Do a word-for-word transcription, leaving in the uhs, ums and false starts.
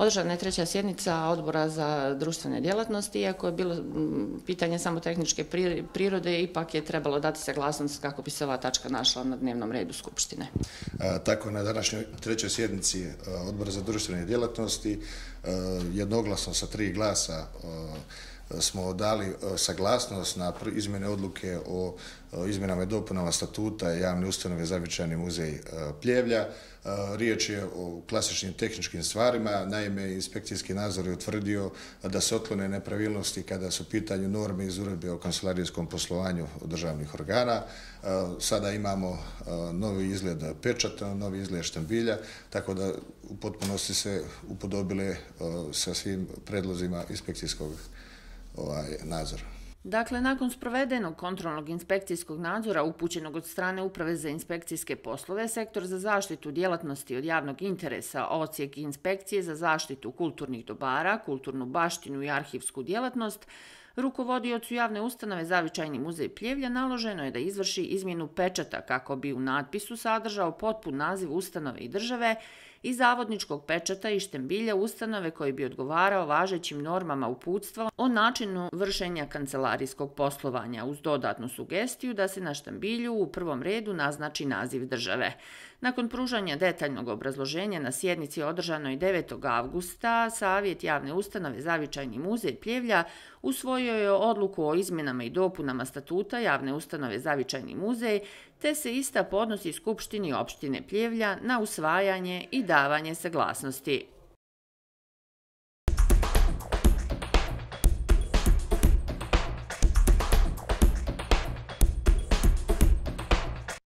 Održana je treća sjednica Odbora za društvene djelatnosti, iako je bilo pitanje samo tehničke prirode, ipak je trebalo dati saglasnost kako bi se ova tačka našla na dnevnom redu Skupštine. A, tako na današnjoj trećoj sjednici Odbora za društvene djelatnosti jednoglasno sa tri glasa smo dali saglasnost na izmjene odluke o izmjenama i dopunama statuta javne ustanove Zavičajni muzej Pljevlja. Riječ je o klasičnim tehničkim stvarima, naime inspekcijski nadzor je utvrdio da se otklone nepravilnosti kada su u pitanju norme iz uredbe o kancelarijskom poslovanju državnih organa. Sada imamo novi izgled pečata, novi izgled štambilja, tako da u potpunosti se upodobile sa svim predlozima inspekcijskog ovaj, nadzora. Dakle, nakon sprovedenog kontrolnog inspekcijskog nadzora upućenog od strane Uprave za inspekcijske poslove, Sektor za zaštitu djelatnosti od javnog interesa, Odsjek inspekcije za zaštitu kulturnih dobara, kulturnu baštinu i arhivsku djelatnost, rukovodiocu javne ustanove Zavičajni muzej Pljevlja naloženo je da izvrši izmjenu pečata kako bi u natpisu sadržao potpun naziv ustanove i države i zavodničkog pečata i štambilja ustanove koji bi odgovarao važećim normama uputstva o načinu vršenja kancelarijskog poslovanja, uz dodatnu sugestiju da se na štambilju u prvom redu naznači naziv države. Nakon pružanja detaljnog obrazloženja na sjednici održanoj devetog avgusta, Savjet javne ustanove Zavičajni muzej Pljevlja usvojio je odluku o izmjenama i dopunama statuta javne ustanove Zavičajni muzej, te se ista podnosi Skupštini opštine Pljevlja na usvajanje i davanje saglasnosti.